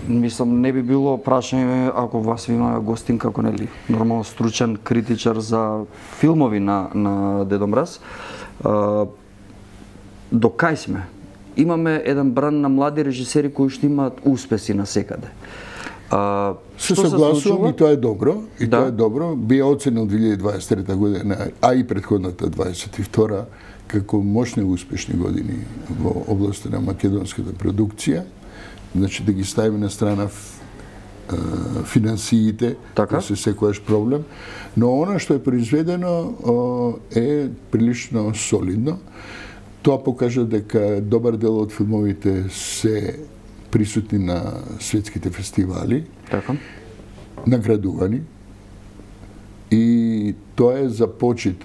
Мислам, не би било прашање ако вас ви имаме гостин како нели нормално стручен критичар за филмови на Дедо Мраз. До кај сме? Имаме еден бран на млади режисери кои што имаат успеси на секаде. Се согласувам и тоа е добро, тоа е добро. Би оценил 2023 година, а и претходната 22 како мощни и успешни години во областта на македонската продукција. Значи да ги ставиме на страна финансиите, тоа се секојаш проблем, но она што е произведено е прилично солидно. Тоа покажа дека добар дел од филмовите се присутни на светските фестивали, наградувани, и тоа е за почит